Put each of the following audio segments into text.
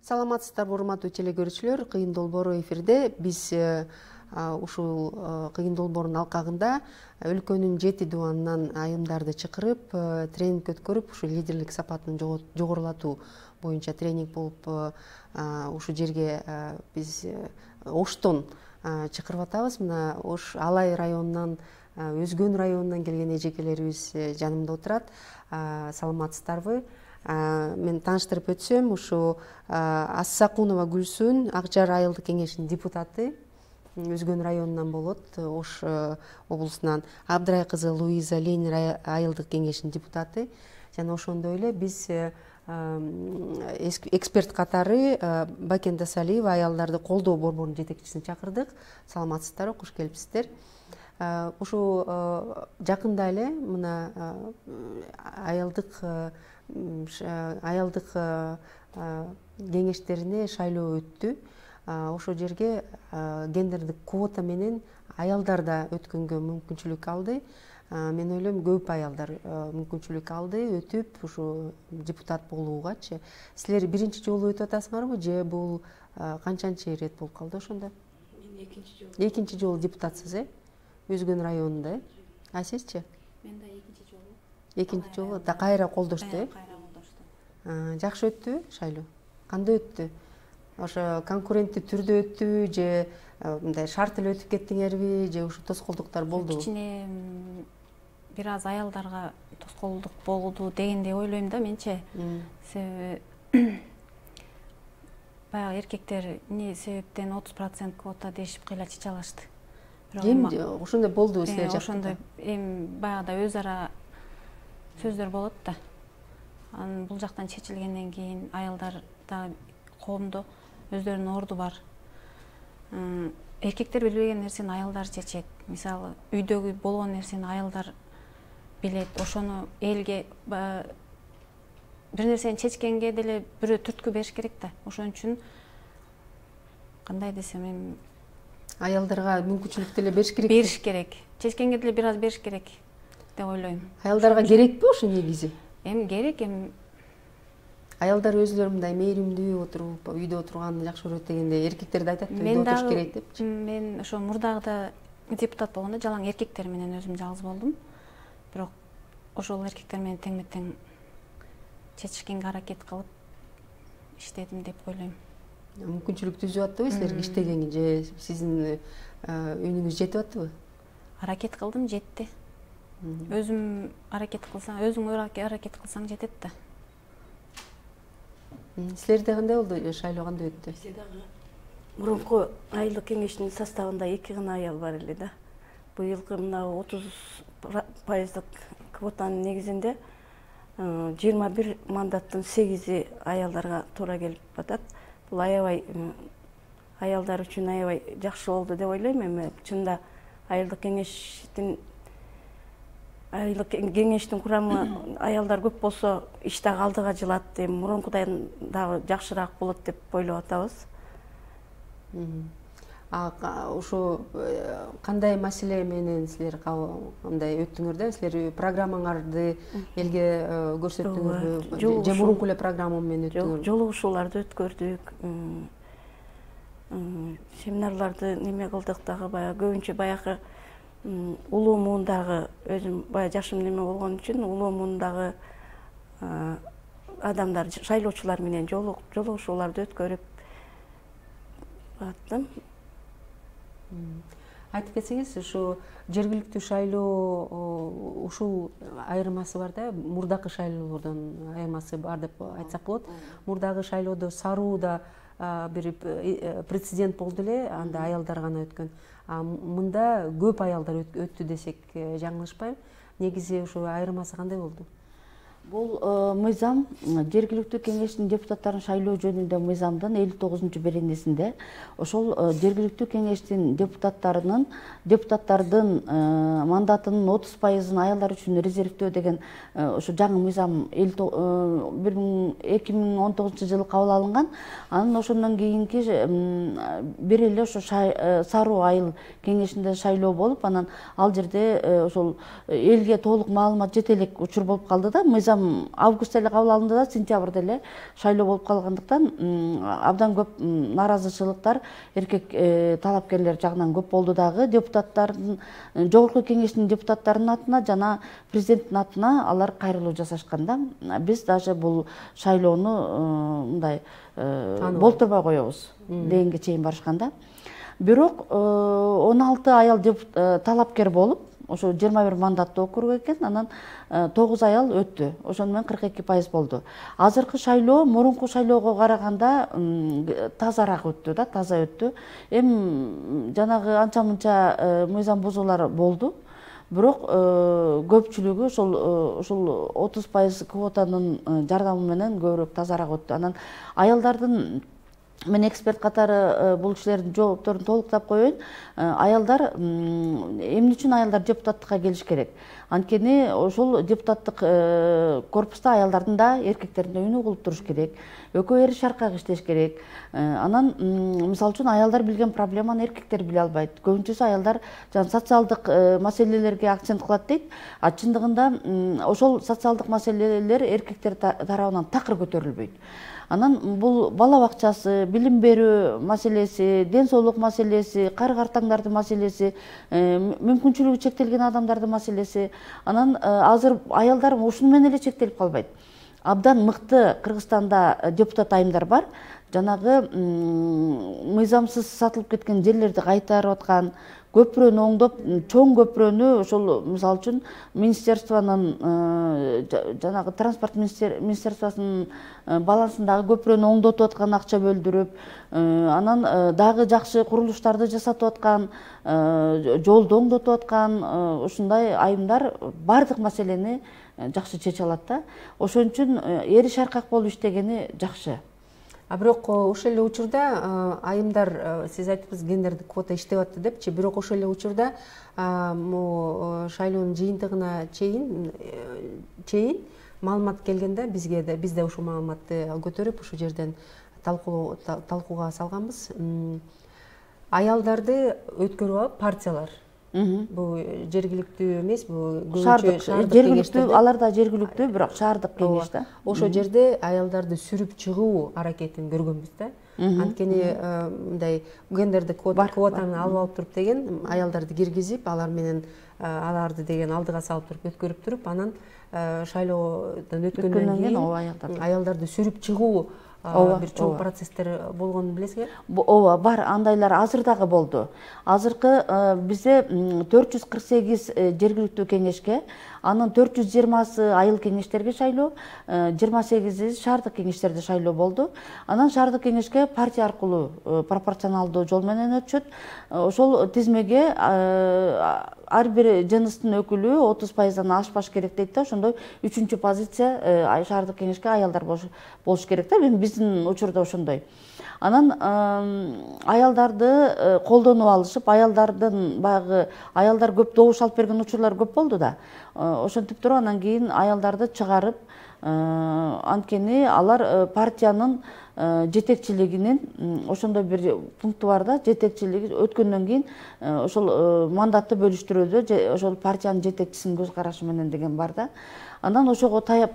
Саламатсыздарбы, урматтуу телекөрүүчүлөр. Кыйын долбоору эфирде. Биз ушул кыйын долбоордун алкагында өлкөнүн 7 дубанынан айымдарды чакырып, тренинг өткөрүп, ушу лидерлик сапатын жогорулатуу боюнча тренинг болуп, ушул жерге биз Оштон чакырып атабыз. Мына Ош Алай районунан, Өзгөн районунан келген эжекелерибиз жанымда отурат. Саламатсыздарбы? Мен тааныштырып өтсөм, ушу Ассакунова Гүлсүн Акжар айылдык кеңешинин депутаты, Өзгөн районунан болот, Ош облусунан. Абдрай кызы Луиза Ленин айылдык кеңешинин депутаты. Жана ошондой эле биз эксперт катары Бакен Дасалиева аялдарды колдоо борборунун жетекчисин чакырдык. Саламатсыздарбы, куш келипсиздер. Ушу жакында эле мына аялдык кеңештерине шайлоо өттү. Ошол жерге гендердик квота менен аялдар да өткөнгө мүмкүнчүлүк алды. Мен ойлойм, көп аялдар мүмкүнчүлүк алды, өтүп, ушу депутат болуугачы. Силер биринчи жолу өтүп атасыңарбы, же бул канчанчы ирет болуп калды ошондо? Мен экинчи жолу. Экинчи жолу депутатсыз, Өзгөн районунда, А сизчи? Мен да экинчи жолу. Экинчи жолу да кайра колдошту, Кайра колдошту. Жакшы өттү шайлоо? Кандай өттү? Ошо конкуренттүү түрдө өттүбү, же мындай шарт эле өтүп кеттиңерби, же ушу тоскоолдуктар болдубу? Кичине бир аз аялдарга тоскоолдук болду дегендей ойлойм да менче. Себеби баягы эркектер эмне себептен 30% квота дешип кыйла чече алышты. Эми ошондой болдубу силер жакта? Ошондой эми баягыда өз ара сөздөр болот да. Анан бул жактан чечилгенден кийин аялдар да коомдо өздөрүнүн орду бар. Эркектер билбеген нерсени аялдар чечет. Мисалы, үйдөгү болгон нерсени аялдар билет. Ошону элге бир нерсени чечкенге деле бирөө түрткү бериш керек да. Ошон үчүн кандай десем, эми Аялдарга мүмкүнчүлүк деле бериш керек. Бериш керек. Чечкенге деле бир аз бериш керек деп ойлойм. Аялдарга керекпи ошо негизи? Эми керек, эми Аялдар өзүлөрү мындай мээримдүү отуруп, үйдө отурганды жакшы көрөт дегенде, эркектер да айтат, үйдө отуруш керек депчи. Мен ошо мурдагыда депутат болгондо жалаң эркектер менен өзүм жалгыз болдум. Бирок ошол эркектер менен тең-тең чечишкенге аракет кылып иштедим деп ойлойм. Мүмкүнчүлүк түзүп аттыбы силерге иштегенге, же сиздин үнүңүз жетип аттыбы? Аракет кылдым, жетти. Өзүм аракет кылсаң, өзүң аракет кылсаң жетет да. Силерде кандай болду? Шайлоо кандай өттү? Бизде дагы мурунку айылдык кеңештин составында 2 гана аял бар эле да. Быйылкы мына 30% квотанын негизинде 21 мандаттын 8-и аялдарга туура келип атат. Бул аябай аялдар үчүн аябай жакшы болду деп ойлойм. Эми чынында айылдык кеңештин курамы аялдар көп болсо, иш дагы алдыга жылат. Эми мурункудан дагы жакшыраак болот деп ойлоп атабыз. Ушу кандай маселе менен силер кандай өттүңөр да? Силер программаңарды элге көрсөттүңөрбү? Же мурунку эле программа менен өттүңөрбү? Жолугушууларды өткөрдүк. Семинарларды неме кылдык дагы, баягы көбүнчө баягы улуу муундагы, өзүм баягы жашым неме болгон үчүн улуу муундагы адамдар, шайлоочулар менен жолугушууларды өткөрүп аттым. Айтып кетсеңиз, ушу жергиликтүү шайлоо ушул айырмасы бар да, мурдакы шайлоолордон айырмасы бар деп айтсак болот. Мурдагы шайлоодо Сарууда бир прецедент болду эле, анда аялдар гана өткөн. Мында көп аялдар өттү десек жаңылышпайм. Негизи ушу айырмасы кандай болду? Бул мыйзам жергиликтүү кеңештин депутаттарын шайлоо жөнүндө мыйзамдын 59-беренесинде ошол жергиликтүү кеңештин депутаттардын мандатынын 30%-ын аялдар үчүн резервдөө деген ошо жаңы мыйзам 2019-жылы кабыл алынган. Анан ошондон кийинки бир эле ошо Саруу айыл кеңешинде шайлоо болуп, анан ал жерде ошол элге толук маалымат жете элек учур болуп калды да. Мыйзам мыйзам августта эле кабыл алынды да сентябрда эле шайлоо болуп калгандыктан абдан көп нааразычылыктар эркек талапкерлер жагынан көп болду. Дагы депутаттардын, жогорку кеңештин депутаттарынын атына жана президенттин атына алар кайрылуу жасашкан да. Биз даже бул шайлоону мындай болтурбай коебуз дегенге чейин барышкан да. Бирок 16 аял талапкер болуп, ошо 21 мандаттуу округ экен, анан 9 аял өттү. Ошону менен 42% болду. Азыркы шайлоо мурунку шайлоого караганда тазараак өттү да, таза өттү. Жанагы анча-мынча мыйзам бузуулар болду. Бирок көпчүлүгү ошол 30% квотанын жардамы менен көбүрөөк тазараак өттү. Анан аялдардын, мен эксперт катары бул кишилердин жоопторун толуктап коеюн. Аялдар, эмне үчүн аялдар депутаттыкка келиш керек? Анткени ошол депутаттык корпуста аялдардын да эркектердин да үнү угулуп туруш керек. Экөө эри шаркак иштеш керек. Анан мисалы үчүн аялдар билген проблеманы эркектер биле албайт. Көбүнчөсү аялдар социалдык маселелерге акцент кылат дейт. А чындыгында ошол социалдык маселелер эркектер тарабынан такыр көтөрүлбөйт. Анан бул бала бакчасы, билим берүү маселеси, ден соолук маселеси, кары-картаңдардын маселеси, мүмкүнчүлүгү чектелген адамдардын маселеси. Анан азыр аялдар ушуну менен эле чектелип калбайт. Абдан мыкты Кыргызстанда депутат айымдар бар. Жанагы мыйзамсыз сатылып кеткен жерлерди кайтарып аткан, көпүрөнү оңдоп, чоң көпүрөнү ошол мисалы үчүн министерствонун жанагы транспорт министерствосунун балансындагы көпүрөнү оңдотуп аткан, акча бөлдүрүп, анан дагы жакшы курулуштарды жасатып аткан, жолду оңдотуп аткан ушундай айымдар баардык маселени жакшы чече алат да. Ошон үчүн эри шаркак болуп иштегени жакшы. Бирок ошол эле учурда айымдар, сиз айттыңыз гендердик квота иштеп атты депчи, бирок ошол эле учурда шайлоонун жыйынтыгына чейин маалымат келгенде бизге да, биз да ушул маалыматты көтөрүп ушул жерден талкууга салганбыз. Аялдарды өткөрүп алып партиялар, бул жергиликтүү эмес, бул жергиликтүү, алар да жергиликтүү, бирок шаардык кеңеш да. Ошол жерде аялдарды сүрүп чыгуу аракетин көргөнбүз да. Анткени мындай гендердик квотаны алып алып туруп деген аялдарды киргизип, алар менен аларды деген алдыга салып туруп өткөрүп туруп, анан шайлоодон өткөндөн кийин аялдарды сүрүп чыгуу бир чоң процесстер болгонун билесизби? Ооба, бар, андайлар азыр дагы болду. Азыркы бизде 448 жергиликтүү кеңешке, анын 420сы айыл кеңештерге шайлоо, 28 шаардык кеңештерде шайлоо болду. Анан шаардык кеңешке партия аркылуу пропорционалдуу жол менен өтүшөт. Ошол тизмеге ар бир жыныстын өкүлү 30%-дан ашпаш керек дейт да. Ошондой 3-чү позиция шаардык кеңешке аялдар болуш керек да. Биздин учурда ошондой. Анан аялдарды колдонуп алышып, аялдардын баягы аялдар көп добуш алып берген учурлар көп болду да. Ошентип туруп анан кийин аялдарды чыгарып, анткени алар партиянын жетекчилигинин ошондой бир пункту бар да, жетекчилиги өткөндөн кийин ошол мандатты бөлүштүрүүдө ошол партиянын жетекчисинин көз карашы менен деген бар да. Анан ошого таяп,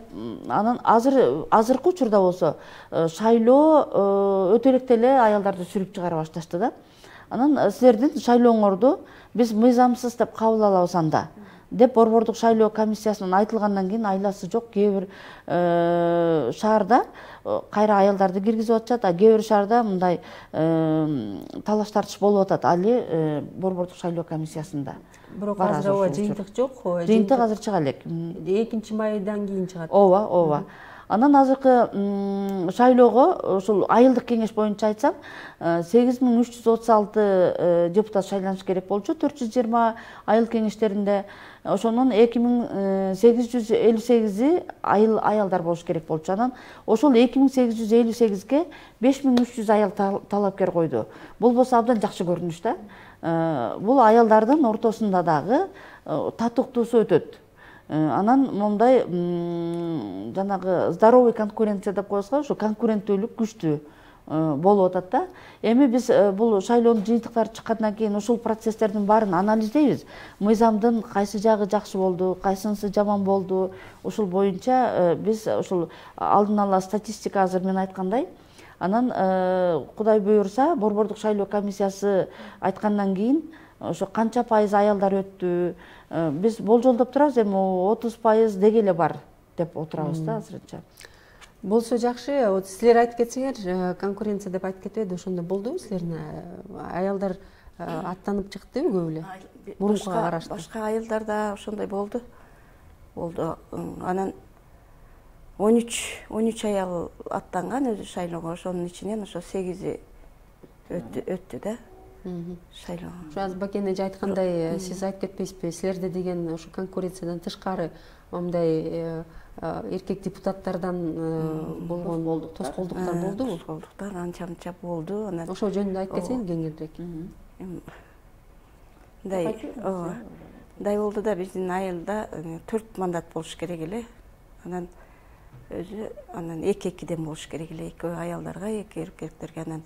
анан азыркы учурда болсо шайлоо өтө электе эле аялдарды сүрүп чыгара башташты да. Анан силердин шайлооңорду биз мыйзамсыз деп кабыл алабыз анда деп борбордук шайлоо комиссиясынан айтылгандан кийин айласы жок кээ бир шаарда кайра аялдарды киргизип атышат, а кээ бир шаарда мындай талаш тартыш болуп атат али борбордук шайлоо комиссиясында. Бирок азыр ооба жыйынтык жок. Жыйынтык азыр чыга элек. 2-майдан кийин чыгат. Ооба. Анан азыркы шайлоого ушул айылдык кеңеш боюнча айтсам, 8336 депутат шайланыш керек болчу 420 айыл кеңештеринде. Ошонун 2858 аялдар болуш керек болчу. Анан ошол 2858ге 5300 аял талапкер койду. Бул болсо абдан жакшы көрүнүш да. Бул аялдардын ортосунда дагы татыктуусу өтөт. Анан мондай жанагы здоровый конкуренция деп коебузго, ошо конкуренттүүлүк күчтүү. болуп атат да. Эми биз бул шайлоонун жыйынтыктары чыккандан кийин ушул процесстердин баарын анализдейбиз. Мыйзамдын кайсы жагы жакшы болду, кайсынысы жаман болду, ушул боюнча биз ушул алдын ала статистика азыр мен айткандай. Анан Кудай буйрса, Борбордук шайлоо комиссиясы айткандан кийин ошо канча пайыз аялдар өттү, биз болжолдоп турабыз, эми 30% деги эле бар деп отурабыз да азырынча. Болсо жакшы. Вот силер айтып кетсеңер, конкуренция деп айтып кетпеди, ошондой болдубу силердин? Аялдар аттанып чыктыбы көп эле? Мурункуга карашты. Башка айылдарда ошондой болду. Анан 13 аял аттанган өзү шайлоого, ошонун ичинен ошо 8 өттү да шайлоого. Ошо азыр Бакен эже айткандай, сиз айтып кетпейсизби, силерде деген ошо конкуренциядан тышкары мындай эркек депутаттардан болгон тоскоолдуктар болдубу? Тоскоолдуктар анча мынча болду. Анан ошол жөнүндө айтып кетсең кеңирээк. Мындай болду да, биздин айылда 4 мандат болуш керек эле. Анан өзү эки-экиден болуш керек эле. Эки аялдарга, эки эркектерге. Анан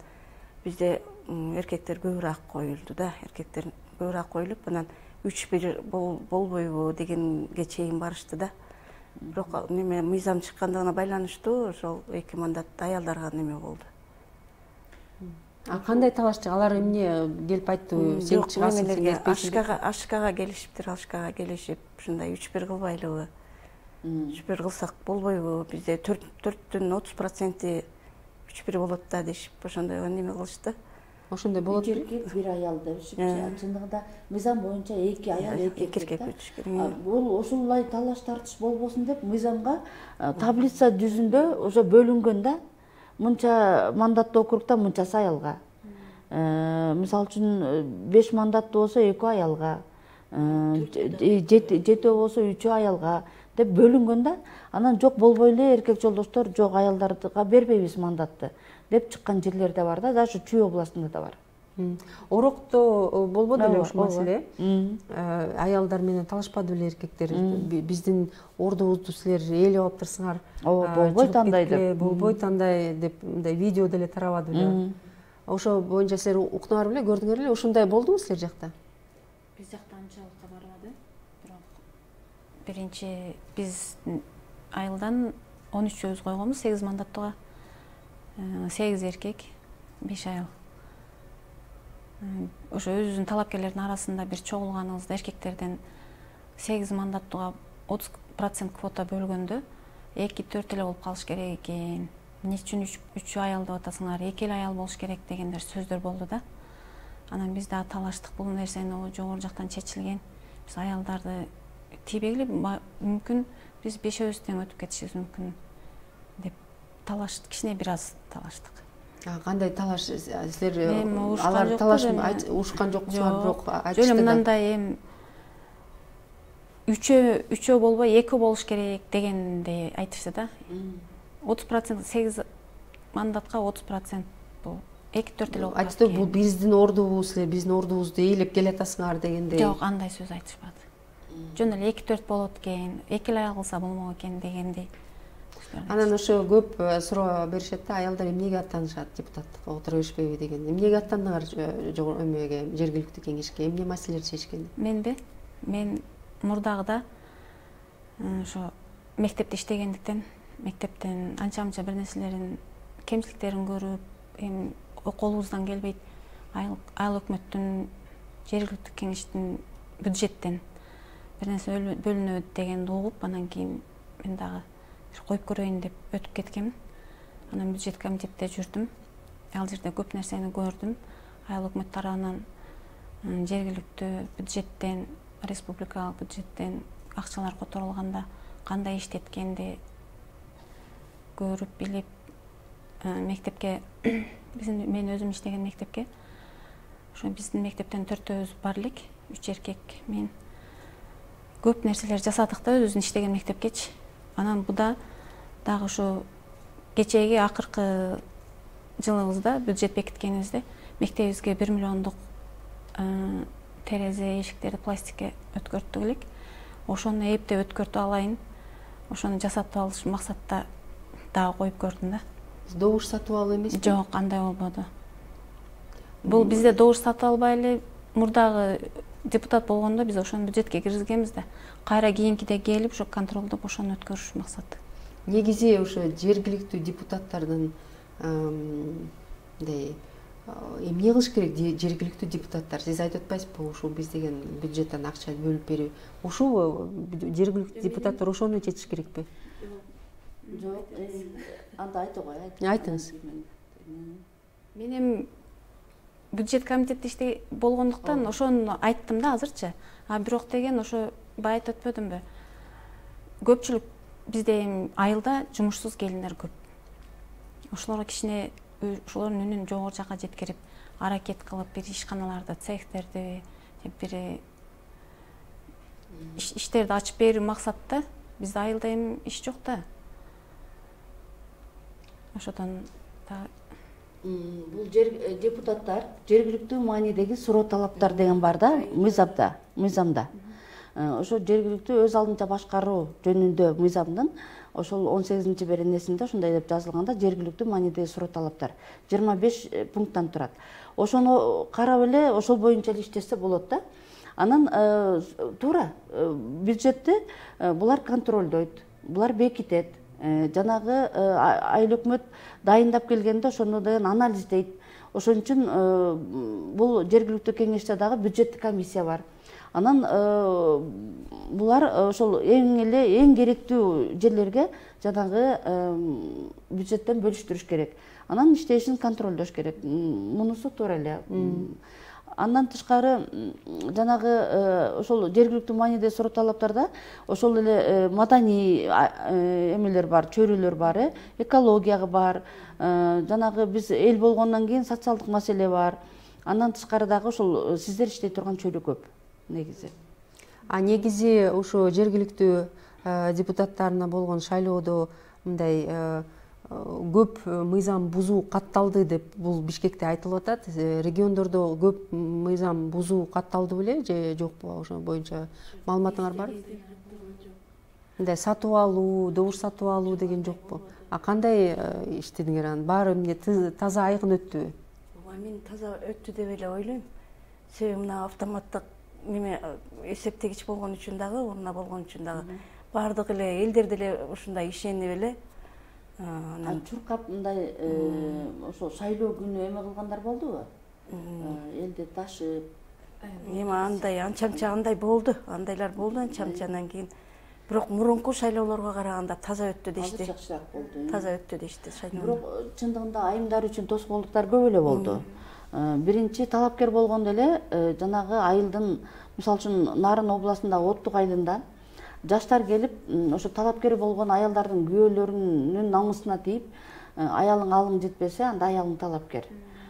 бизде эркектер көбүрөөк коюлду да. Эркектер көбүрөөк коюлуп, анан 3-1 болбойбу дегенге чейин барышты да. Бирок мыйзам чыккандыгына байланыштуу ошол 2 мандат аялдарга неме болду. Кандай талашчы? Алар эмне келип айттыбы? Сен чыгасың, сен келишпейсиң? Ашкага келишиптир, ашкага келишип, ушундай 3-1 кылбайлыбы? 3-1 кылсак болбойбу? Бизде 4-төн 30% 3-1 болот да дешип, ошондой неме кылышты. Ошондой болот. Бир аял дешип, чындыгында мыйзам боюнча 2 аял, 2 эркек өтүш керек. Бул ушулай талаш тартыш болбосун деп мыйзамга таблица жүзүндө уже бөлүнгөн да. Мынча мандаттуу округда мынчасы аялга. Мисалы үчүн 5 мандаттуу болсо 2 аялга, 7 болсо 3 аялга деп бөлүнгөн да. Анан жок болбой эле эркек жолдоштор жок аялдарга бербейбиз мандатты деп чыккан жерлер да бар да, даже Чүй областында да бар. Орокто болбоду эле ушул маселе? Аялдар менен талашпады беле эркектер? Биздин ордубузду силер ээлеп алыптырсыңар. Болбойт андай деп. Болбойт андай деп мындай видео деле тарабады беле. Ошо боюнча силер укнуңар беле, көрдүңөр беле? Ушундай болдубу силер жакта? Биз жакта анчалык барбады. Бирок биринчи биз айылдан 13 өз койгонбуз, 8 мандаттууга. 8 эркек, 5 аял. Ошо өзүбүздүн талапкерлердин арасында бир чогулганыбызда эркектерден 8 мандаттууга 30% квота бөлгөндө 2-4 эле болуп калыш керек экен. Эмне үчүн 3 аял деп атасыңар, 2 эле аял болуш керек дегендер сөздөр болду да. Анан биз да талаштык, бул нерсени жогору жактан чечилген. Биз аялдарды тийбегиле мүмкүн биз 5-өбүз тең өтүп кетишибиз мүмкүн деп талаштык, кичине бир аз талаштык. Кандай талаш? Силер алар талаш ушкан жоксуңар, бирок айтышты. Жөн мындай 3 болбой 2 болуш керек дегенди айтышты да. 30%, 8 мандатка 30% бул 2-4 эле болуп калат. Айтты, бул биздин ордубуз, силер биздин ордубузду ээлеп келатасыңар дегендей. Жок, андай сөз айтышпады. Жөн эле 2-4 болот экен, 2 эле аял кылса болмок экен дегендей. Анан ошо көп суроо беришет да, аялдар эмнеге аттанышат депутаттыкка, отура беришпейби деген. Эмнеге аттандыңар эмеге, жергиликтүү кеңешке? Эмне маселелерди чечкенди? Менби? Мен мурдагыда ошо мектепте иштегендиктен, мектептен анча-мынча бир нерселерин, кемчиликтерин көрүп, эми колубуздан келбейт, айыл өкмөттүн, жергиликтүү кеңештин бюджеттен бир нерсе бөлүнөт дегенди угуп, анан кийин мен дагы коюп көрөйүн деп өтүп кеткем. Анан бюджет комитетте жүрдүм. Ал жерде көп нерсени көрдүм. Айыл өкмөт тарабынан жергиликтүү бюджеттен, республикалык бюджеттен акчалар которулганда кандай иштеткенди көрүп билип, мектепке мен өзүм иштеген мектепке, ошо биздин мектептен 4-өбүз бар элек, 3 эркек, мен көп нерселер жасадык да өзүбүздүн иштеген мектепкечи. Анан буда дагы ушу кечээги акыркы жылыбызда бюджет бекиткенибизде мектебибизге 1 миллиондук терезе эшиктерди пластикке өткөрттүк элек. Ошону эптеп өткөртүп алайын, ошону жасатып алыш максатта дагы коюп көрдүм да. добуш сатып алуу эмеспи? Жок, андай болбоду. Бул бизде добуш сатып албай эле мурдагы депутат болгондо биз ошону бюджетке киргизгенбиз да. Кайра кийинкиде келип ушу контролдоп ошону өткөрүш максаты. Негизи ошо жергиликтүү депутаттардын мындай эмне кылыш керек? Жергиликтүү депутаттар, сиз айтып атпайсызбы, ушул биз деген бюджеттен акча бөлүп берип, ушул жергиликтүү депутаттар ошону чечиш керекпи? Жок, анда айтып кой. Айтыңыз. Мен эми бюджет комитетте болгондуктан ошону айттым да азырчы. А бирок деген ошо бая айтып өтпөдүмбү? Көпчүлүк бизде эми айылда жумушсуз келиндер көп. Ошолорго кичине ошолордун үнүн жогору жакка жеткирип, аракет кылып, бир ишканаларда цехтерди, бир иштерди ачып берүү максатта. Бизде айылда эми иш жок да. Ошодон бул депутаттар жергиликтүү маанидеги суроо талаптар деген бар да, мыйзамда. Ошо жергиликтүү өз алдынча башкаруу жөнүндө мыйзамдын ошол 18-беренесинде ошондой деп жазылганда жергиликтүү маанидеги суроо талаптар 25 пункттан турат. Ошону карап эле ошол боюнча эле иштесе болот да. Анан туура бюджетти булар контролдойт, булар бекитет. Жанагы айыл өкмөт дайындап келгенде ошону деген анализдейт. Ошон үчүн бул жергиликтүү кеңеште дагы бюджеттик комиссия бар. Анан булар ошол эң керектүү жерлерге жанагы бюджеттен бөлүштүрүш керек. Анан иштешин контролдош керек. Мунусу туура эле. Андан тышкары жанагы ошол жергиликтүү маанидеги суроо талаптарда ошол эле маданий эмелер бар, чөйрөлөр бар, экологияга бар. Жанагы биз эл болгондон кийин социалдык маселе бар. Андан тышкары дагы ошол сиздер иштей турган чөйрө көп негизи. Негизи ошо жергиликтүү депутаттарына болгон шайлоодо мындай көп мыйзам бузуу катталды деп бул Бишкекте айтылып атат. Региондордо көп мыйзам бузуу катталды беле же жокпу? Ошо боюнча маалыматыңар барбы? Мындай сатып алуу, добуш сатып алуу деген жокпу? Кандай иштедиңер анан? Баары эмне таза айкын өттүбү? Мен таза өттү деп эле ойлойм. Себеби мына автоматтык неме эсептегич болгон үчүн дагы, урна болгон үчүн дагы баардык эле элдер деле ушундай ишенип эле чуркап мындай ошо шайлоо күнү эме кылгандар болдубу? Элди ташып эме андай анча андай болду. Андайлар болду анча-анчадан кийин. Бирок мурунку шайлоолорго караганда таза өттү дешти. Жакшыраак болду. Таза өттү дешти шайлоо. Бирок чындыгында айымдар үчүн тоскоолдуктар көп эле болду. Биринчи талапкер болгондо эле жанагы айылдын, мисалы үчүн Нарын областындагы Оттук айылында жаштар келип, ошо талапкер болгон аялдардын күйөөлөрүнүн намысына тийип, аялың алың жетпесе, анда аялың талапкер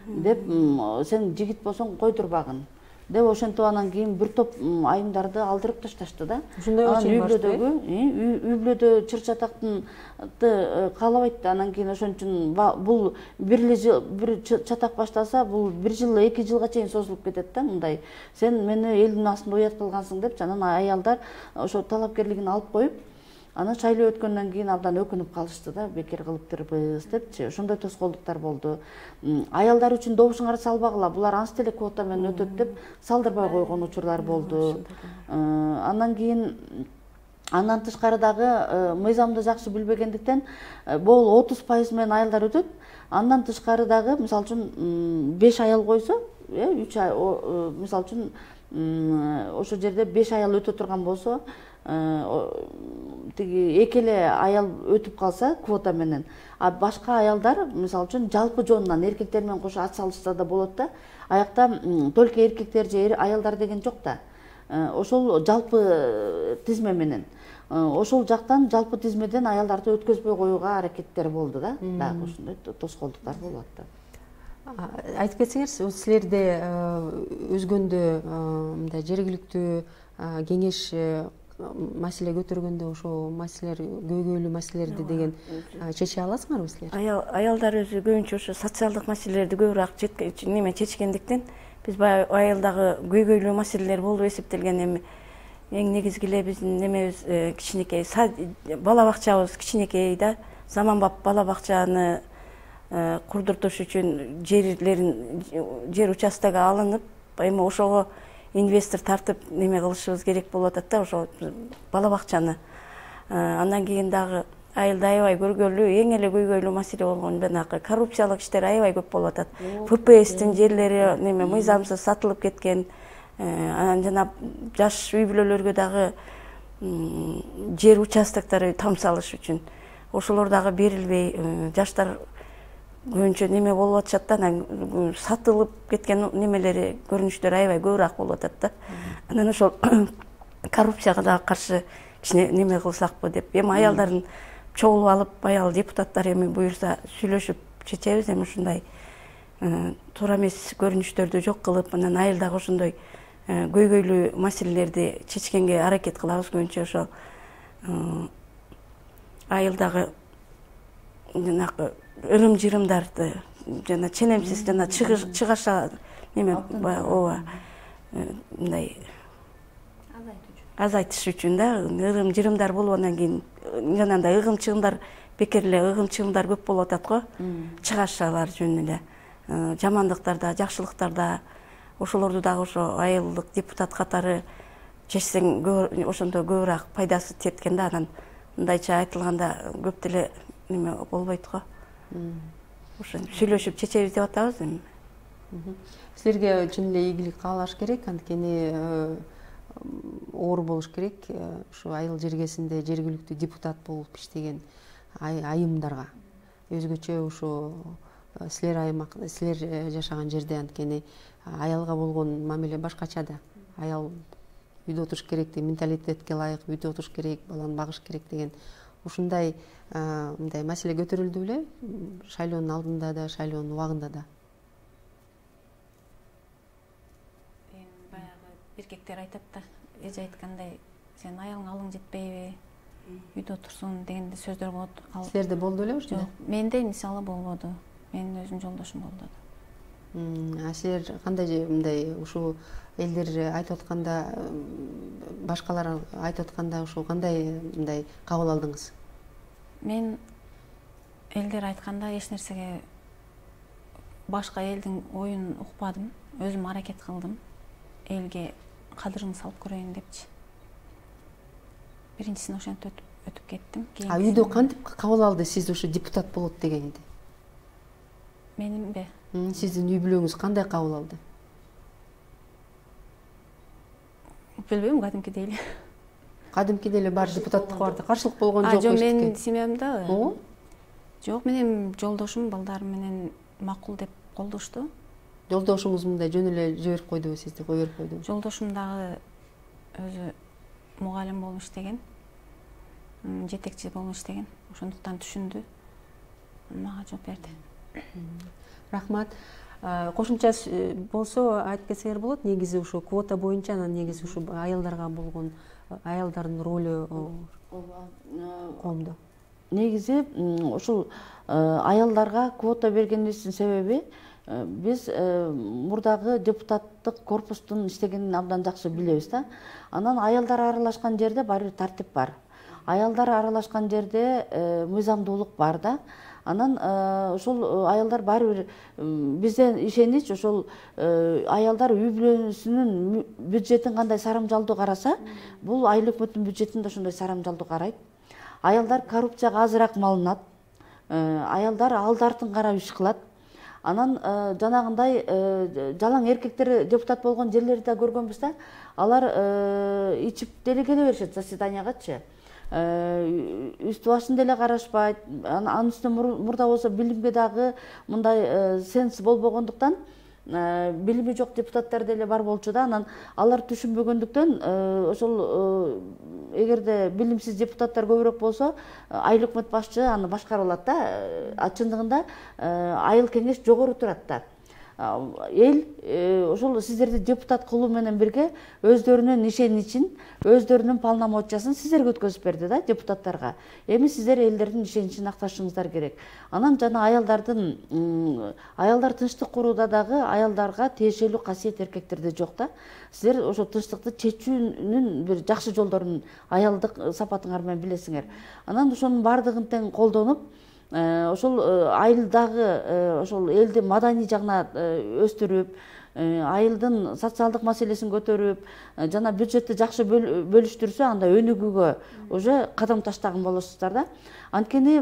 деп, сен жигит болсоң койдурбагын деп ошентип анан кийин бир топ айымдарды алдырып ташташты да. Ушундай үй-бүлөдө чыр-чатактын каалабайт. Анан кийин ошон үчүн бул бир чатак баштаса, бул 1 жыл, 2 жылга чейин созулуп кетет да. Мындай сен мени элдин астында уят кылгансың деп, анан аялдар ошо талапкерлигин алып коюп, анан шайлоо өткөндөн кийин абдан өкүнүп калышты да, бекер кылыптырбыз депчи. Ошондой тоскоолдуктар болду. Аялдар үчүн добушуңарды салбагыла, булар анча эле квота менен өтөт деп салдырбай койгон учурлар болду. Андан тышкары дагы мыйзамды жакшы билбегендиктен бул 30% менен аялдар өтөт. Андан тышкары дагы мисалы үчүн 5 аял койсо, 3 мисалы үчүн ошол жерде 5 аял өтө турган болсо, тиги 2 эле аял өтүп калса квота менен, а башка аялдар мисалы үчүн жалпы жоонунан эркектер менен кошо ат салышса да болот да. Аякта только эркектер же аялдар деген жок да. Ошол жалпы тизме менен. Ошол жактан жалпы тизмеден аялдарды өткөзбөй коюуга аракеттер болду да. Дагы ушундай тоскоолдуктар болуп атты. Айтып кетсеңер, силерде өзгөндө мындай жергиликтүү кеңеш маселе көтөргөндө ошо маселелер, көйгөйлүү маселелерди деген чече аласыңарбы силер? Аялдар өзү көбүнчө ошо социалдык маселелерди көбүрөөк чечкендиктен биз баягы айылдагы көйгөйлүү маселелер болуп эсептелген. Эми эң негизги эле биздин немебиз кичинекей бала бакчабыз кичинекей да, заманбап бала бакчаны курдуртуш үчүн жер участогу алынып, эми ошого инвестор тартып неме кылышыбыз керек болуп атат да, ошо бала бакчаны. Андан кийин дагы айылда аябай көргөлүү, эң эле көйгөйлүү маселе болгон жанагы коррупциялык иштер аябай көп болуп атат. ФПСтин жерлери неме мыйзамсыз сатылып кеткен. Анан жана жаш үй бүлөлөргө дагы жер участоктору там салыш үчүн ошолор дагы берилбей, жаштар көбүнчө неме болуп атышат да, анан сатылып кеткен немелери, көрүнүштөр аябай көбүрөөк болуп атат да. Анан ошол коррупцияга дагы каршы кичине неме кылсакпы деп, эми аялдарын чогулуп алып, аял депутаттар эми буюрса сүйлөшүп чечебиз, эми ушундай туура эмес көрүнүштөрдү жок кылып, анан айылдагы ошондой көйгөйлүү маселелерди чечкенге аракет кылабыз. Көбүнчө ошо айылдагы жанагы ырым-жырымдарды жана ченемсиз жана чыгаша неме ооба мындай азайтыш үчүн да, ырым-жырымдар болуп, андан кийин жанагындай ыгым-чыгымдар, бекер эле ыгым-чыгымдар көп болуп атат го, чыгашалар жөнүнө эле, жамандыктарда, жакшылыктарда. Ошолорду дагы ошо айылдык депутат катары чечсең ошондо көбүрөөк пайдасы тиет экен да. Анан мындайча айтылганда көп деле неме болбойт го. Ошо сүйлөшүп чечебиз деп атабыз эми. Силерге чын эле ийгилик каалаш керек, анткени оор болуш керек ушу айыл жергесинде жергиликтүү депутат болуп иштеген айымдарга. Өзгөчө ушу силер жашаган жерде, анткени аялга болгон мамиле башкача да. Аял үйдө отуруш керек деген менталитетке ылайык үйдө отуруш керек, баланы багыш керек деген ушундай мындай маселе көтөрүлдү беле шайлоонун алдында да, шайлоонун убагында да. Баягы эркектер айтат да, эже айткандай, сен аялың алың жетпейби, үйдө отурсун дегенде сөздөр болот. Силерде болду беле ушундай? Жок, менде мисалы болбоду. Менин өзүм жолдошум болду. Силер кандай мындай ушу элдер айтып атканда, башкалар айтып атканда ушу кандай мындай кабыл алдыңыз? Мен элдер айтканда эч нерсеге башка элдин оюн укпадым. Өзүм аракет кылдым. Элге кадырын салып көрөйүн депчи. Биринчисин ошентип өтүп кеттим. Үйдө кантип кабыл алды сиз ушу депутат болот дегенди? Менимби? Сиздин үй бүлөңүз кандай кабыл алды? Билбейм, кадимкидей эле. Кадимкидей эле бар депутаттыкка барды. Каршылык болгон жок. Жок, менин семьямда. Ооба. Жок, менин жолдошум балдарым менен макул деп колдошту. Жолдошуңуз мындай жөн эле жиберип койдубу, сизди кое берип койдубу? Жолдошум дагы өзү мугалим болуп иштеген, жетекчи болуп иштеген. Ошондуктан түшүндү. Мага жооп берди. Рахмат. Кошумча болсо айтып кетсеңер болот. Негизи ушу квота боюнча, анан негизи ушу аялдарга болгон аялдардын ролу коомдо. Негизи ушул аялдарга квота бергенибиздин себеби биз мурдагы депутаттык корпустун иштегенин абдан жакшы билебиз да. Анан аялдар аралашкан жерде баары бир тартип бар. Аялдар аралашкан жерде мыйзамдуулук бар да. Анан ошол аялдар баары бир бизден ишенич, ошол аялдар үй бүлөсүнүн бюджетин кандай сарамжалдуу караса, бул айыл өкмөттүн бюджетин да ошондой сарамжалдуу карайт. Аялдар коррупцияга азыраак малынат. Аялдар алды артын карап иш кылат. Анан жанагындай жалаң эркектер депутат болгон жерлерди да көргөнбүз да. Алар ичип деле келе беришет заседаниягачы. Үстү башын деле карашпайт. Анын үстүнө мурда болсо билимге дагы мындай сенс болбогондуктан билими жок депутаттар деле бар болчу да. Анан алар түшүнбөгөндүктөн ошол эгерде билимсиз депутаттар көбүрөөк болсо, айыл өкмөт башчы аны башкарып алат да. Чындыгында айыл кеңеш жогору турат да. Эл ошол сиздерди депутат кылуу менен бирге өздөрүнүн ишеничин, өздөрүнүн полномочиясын сиздерге өткөзүп берди да, депутаттарга. Эми сиздер элдердин ишеничин акташыңыздар керек. Анан жана аялдар тынчтык курууда дагы аялдарга тиешелүү касиет эркектерде жок да. Сиздер ошо тынчтыкты чечүүнүн бир жакшы жолдорун аялдык сапатыңар менен билесиңер. Анан ошонун баардыгын тең колдонуп, ошол айылдагы ошол элди маданий жагына өстүрүп, айылдын социалдык маселесин көтөрүп, жана бюджетти жакшы бөлүштүрсө, анда өнүгүүгө уже кадам таштаган болосуздар да. Анткени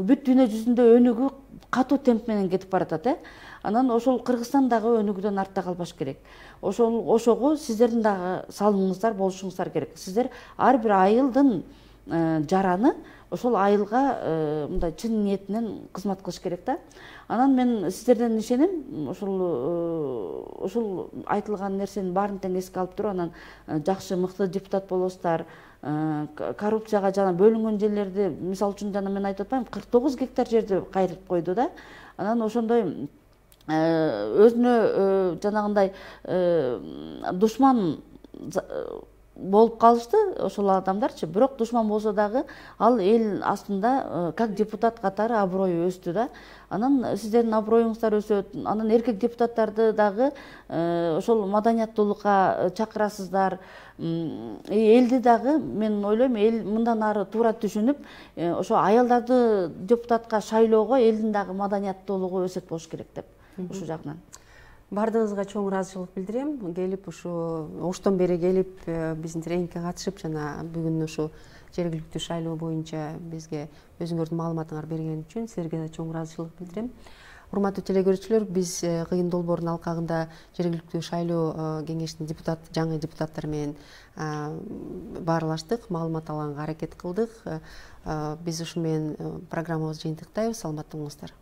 бүт дүйнө жүзүндө өнүгүү катуу темп менен кетип баратат. Анан ошол Кыргызстан дагы өнүгүүдөн артта калбаш керек. Ошого сиздердин дагы салымыңыздар болушуңуздар керек. Сиздер ар бир айылдын жараны ошол айылга мындай чын ниетинен кызмат кылыш керек да. Анан мен сиздерден ишенем, ошол айтылган нерсенин баарын тең эске алып туруп, анан жакшы мыкты депутат болосуздар. Коррупцияга жана бөлүнгөн жерлерди, мисалы үчүн жана мен айтып атпаймынбы, 49 гектар жерди кайрып койду да. Анан ошондой өзүнө жанагындай душман болуп калышты ошол адамдарчы. Бирок душман болсо дагы ал эл астында как депутат катары аброю өстү да. Анан сиздердин аброюңуздар өсөт. Анан эркек депутаттарды дагы ошол маданияттуулукка чакырасыздар. Элди дагы мен ойлойм, эл мындан ары туура түшүнүп, ошо аялдарды депутатка шайлоого элдин дагы маданияттуулугу өсөт болуш керек деп ушул жагынан. Бардыгыңызга чоң ыраазычылык билдирем. Келип ушу оштон бери келип биздин тренингке катышып, жана бүгүн ушу жергиликтүү шайлоо боюнча бизге өзүңөрдүн маалыматыңарды берген үчүн силерге да чоң ыраазычылык билдирем. Урматтуу телегөрүүчүлөр, биз Кыйын Долбоордун алкагында жергиликтүү шайлоо кеңешинин жаңы депутаттары менен баарлаштык, маалымат алганга аракет кылдык. Биз ушу менен программабызды жыйынтыктайбыз. Саламатта болуңуздар.